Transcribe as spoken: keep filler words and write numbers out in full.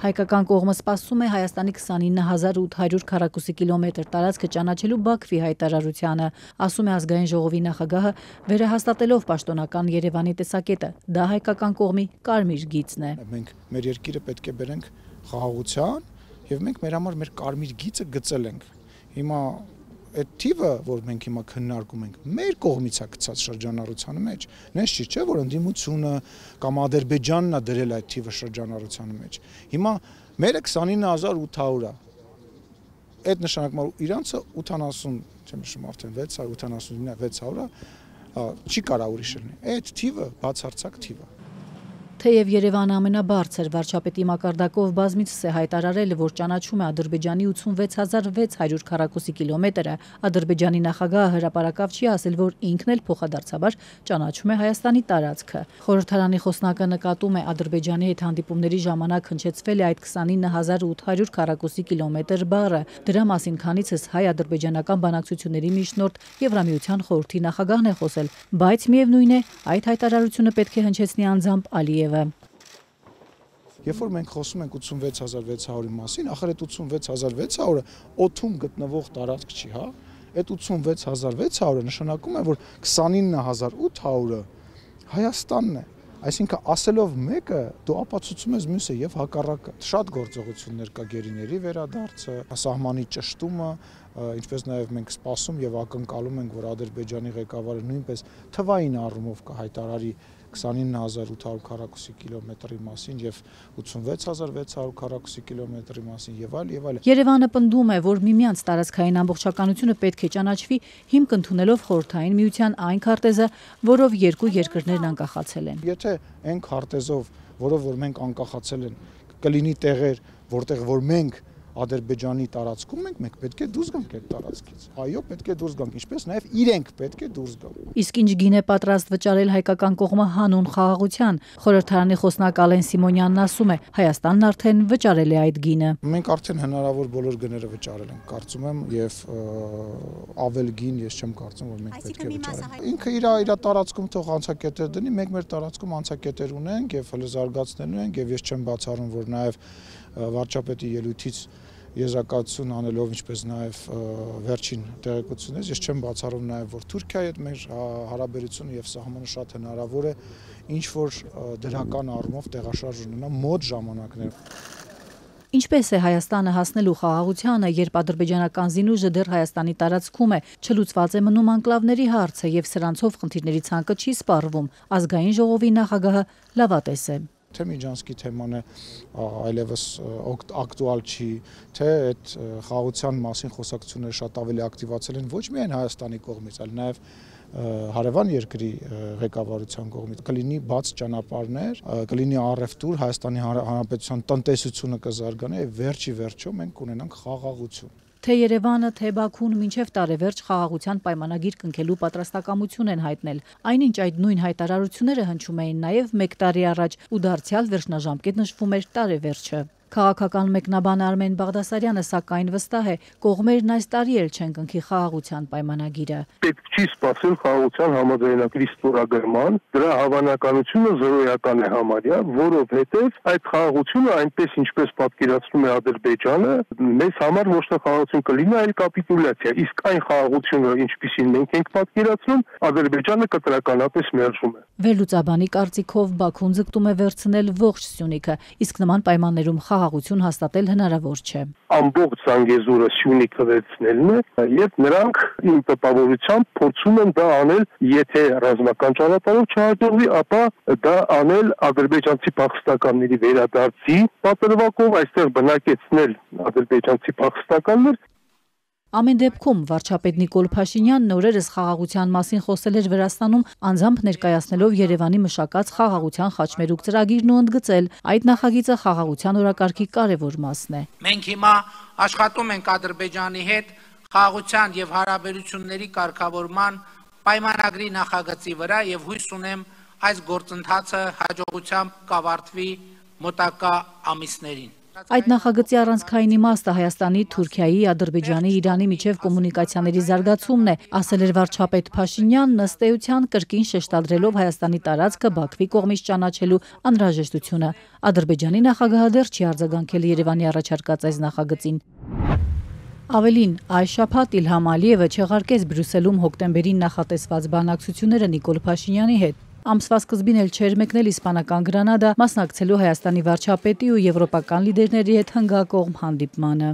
Հայկական կողմը սպասում է Հայաստանի քսանինը հազար ութ հարյուր քառակուսի կիլոմետր տարածքը ճանաչելու Բաքվի հայտարարությանը, ասում է ազգային ժողովի նախագահը, վերահաստատելով պաշտոնական Երևանի տեսակետը։ Դա հայկական կողմի կարմիր գիծն է։ Մենք մեր երկիրը պետք է բերենք խաղաղության, եւ մենք մեր համար մեր կարմիր գիծը գծել ենք։ Հիմա այդ թիվը, որ մենք հիմա քննարկում ենք, մեր կողմից է գծած շրջանառության մեջ։ Նես չի, չէ, որ ընդդիմությունը կամ Ադրբեջանն է դրել այդ թիվը շրջանառության մեջ։ Հիմա մերը քսանինը հազար ութ հարյուր է։ Այդ նշանակում է իրանցը ութանասուն, չեմ հիշում արդեն վեց հարյուր, ութանասունինը վեց հարյուր է, չի կարա ուրիշ լինի։ Այդ թիվը բացարձակ թիվ է։ Թեև Երևանը ամենաբարձր վարչապետի մակարդակով բազմիցս է հայտարարել, որ ճանաչում է Ադրբեջանի ութսունվեց հազար վեց հարյուր քառակուսի կիլոմետրը, Ադրբեջանի նախագահը հրապարակավ չի ասել, որ ինքն էլ փոխադարձաբար ճանաչում է Հայաստանի տարածքը։ Խորհրդարանի խոսնակը նկատում է Ադրբեջանի հետ հանդիպումների ժամանակ հնչեցվել է այդ քսանինը հազար ութ հարյուր քառակուսի կիլոմետր բառը։ Դրա մասին քանիցս հայ-ադրբեջանական բանակցությունների միջնորդ Եվրամիության խորհրդի նախագահն է խոսել, բայց միևնույն է, այդ հայտարարությունը պետք է հնչեցնի անձամբ Ալիևը։ Երբ որ մենք խոսում ենք ութսունվեց հազար վեց հարյուրի մասին, ախր այդ ութսունվեց հազար վեց հարյուրը օդում գտնվող տարածք չի, հա։ Այդ ութսունվեց հազար վեց հարյուրը նշանակում է, որ քսանինը հազար ութ հարյուրը Հայաստանն է։ Այսինքն ասելով մեկը դու ապացուցում ես մյուսը եւ հակառակը։ Շատ գործողություններ կա գերիների վերադարձը, սահմանի ճշտումը, ինչպես նաեւ մենք սպասում եւ ակնկալում ենք, որ Ադրբեջանի ղեկավարը նույնպես թվային առումով կհայտարարի քսանինը հազար ութ հարյուր քառակուսի կիլոմետրի մասին եւ ութսունվեց հազար վեց հարյուր քառակուսի կիլոմետրի մասին եւ այլ եւ այլ։ Երևանը պնդում է, որ միմյանց տարածքային ամբողջականությունը պետք է ճանաչվի հիմք ընդունելով խորհրդային միության այն քարտեզը, որով երկու երկրներն անկախացել են։ Եթե այն քարտեզով, որով որ մենք անկախացել են, կլինի տեղեր, որտեղ որ մենք Ադրբեջանի տարածքում ենք, մենք պետք է դուրս գանք այդ տարածքից։ Այո, պետք է դուրս գանք, ինչպես նաև իրենք պետք է դուրս գան։ Իսկ ինչ գին է պատրաստ վճարել հայկական կողմը հանուն խաղաղության։ Խորհրդարանի խոսնակ Ալեն Սիմոնյանն ասում է, Հայաստանն արդեն վճարել է այդ գինը։ Մենք արդեն հնարավոր բոլոր գները վճարել ենք, կարծում եմ, եւ ավել գին ես չեմ կարծում, որ մենք պետք է վճարենք։ Ինքը իր իր տարածքում թող անցակետեր դնի, մենք մեր տարածքում անցակետեր ունենք եւ հələ զարգացնելու ենք եւ ես չեմ բացառում, որ նաև վարչապետի ելույթից եզրակացություն անելով, ինչպես նաև վերջին տեղեկությունից, ես չեմ բացառում նաև, որ Թուրքիայի հետ մեր հարաբերությունը եւ սահմանը շատ հնարավոր է ինչ որ դրական առումով տեղաշարժ ունենա մոտ ժամանակներում։ Ինչպես է Հայաստանը հասնելու խաղաղությանը, երբ ադրբեջանական զինուժը դեռ Հայաստանի տարածքում է, չլուծված է մնում անկլավների հարցը եւ սրանցով խնդիրների ցանկը չի սպառվում, ազգային ժողովի նախագահը լավատես է։ Թե Միջանցքի թեման է այլևս ակտուալ չի, թե այդ խաղաղության մասին խոսակցությունները շատ ավելի ակտիվացել են ոչ միայն Հայաստանի կողմից, այլ նաև հարևան երկրի ղեկավարության կողմից կլինի բաց ճանապարհներ, կլինի առևտուր, Հայաստանի Հանրապետության տնտեսությունը կզարգանա եւ վերջի վերջո մենք կունենանք խաղաղություն։ Թե Երևանը, թե Բաքուն մինչև տարեվերջ խաղաղության պայմանագիր կնքելու պատրաստակամություն են հայտնել։ Այնինչ այդ նույն հայտարարությունները հնչում էին նաև մեկ տարի առաջ ու դարձյալ վերջնաժամկետ նշվում էր տարեվերջը։ Քաղաքական մեկնաբան Արմեն Բաղդասարյանը սակայն վստահ է, կողմերն այս տարի էլ չեն կնքի խաղաղության պայմանագիրը։ Պետք չի սպասել խաղաղության համաձայնագրի ստորագրման, դրա հավանականությունը զրոյական է համարյա, որովհետև այդ խաղաղությունը այնպես ինչպես պատկերացնում է Ադրբեջանը, մեզ համար ոչ թե խաղաղություն կլինի, այլ կապիտուլյացիա, իսկ այն խաղաղությունը, ինչպիսին մենք ենք պատկերացնում, Ադրբեջանը կտրականապես մերժում է։ Վերլուծաբանի կարծիքով Բաքուն ձգտում է վերցնել ողջ Սյունիքը, իսկ նման պայմաններում խաղաղություն հաստատել հնարավոր չէ։ Ամբողջ Զանգեզուրը Սյունիքը վերցնելն է, եւ նրանք իմ տպավորությամբ փորձում են դա անել, եթե ռազմական ճանապարհով չհաջողվի, ապա դա անել ադրբեջանցի փախստականների վերադարձի պատրվակով, այստեղ բնակեցնել ադրբեջանցի փախստականներ։ Ամեն դեպքում վարչապետ Նիկոլ Փաշինյանն օրերս խաղաղության մասին խոսել էր Վրաստանում, անձամբ ներկայացնելով Երևանի մշակած խաղաղության խաչմերուկ ծրագիրն ու ընդգծել, այդ նախագիծը խաղաղության օրակարգի կարևոր մասն է։ Մենք հիմա աշխատում ենք Ադրբեջանի հետ խաղաղության եւ հարաբերությունների կարգավորման պայմանագրի նախագծի վրա եւ հույս ունեմ այս գործընթացը հաջողությամբ կավարտվի մոտակա ամիսներին։ Այդ նախագծի առանցքային իմաստը Հայաստանի, Թուրքիայի, Ադրբեջանի, Իրանի միջև կոմունիկացիաների զարգացումն է, ասել էր վարչապետ Փաշինյանն, ըստ էության կրկին շեշտադրելով Հայաստանի տարածքը Բաքվի կողմից ճանաչելու անհրաժեշտությունը։ Ադրբեջանի նախագահը դեռ չի արձագանքել Երևանի առաջարկած այս նախագծին։ Ավելին, այս շաբաթ Իլհամ Ալիևը չեղարկեց Բրյուսելում հոկտեմբերին նախատեսված բանակցությունները Նիկոլ Փաշինյանի հետ։ Ամսվա սկզբին էլ չէր մեկնել իսպանական Գրանադա մասնակցելու Հայաստանի վարչապետի ու եվրոպական լիդերների հետ հնգակողմ հանդիպմանը։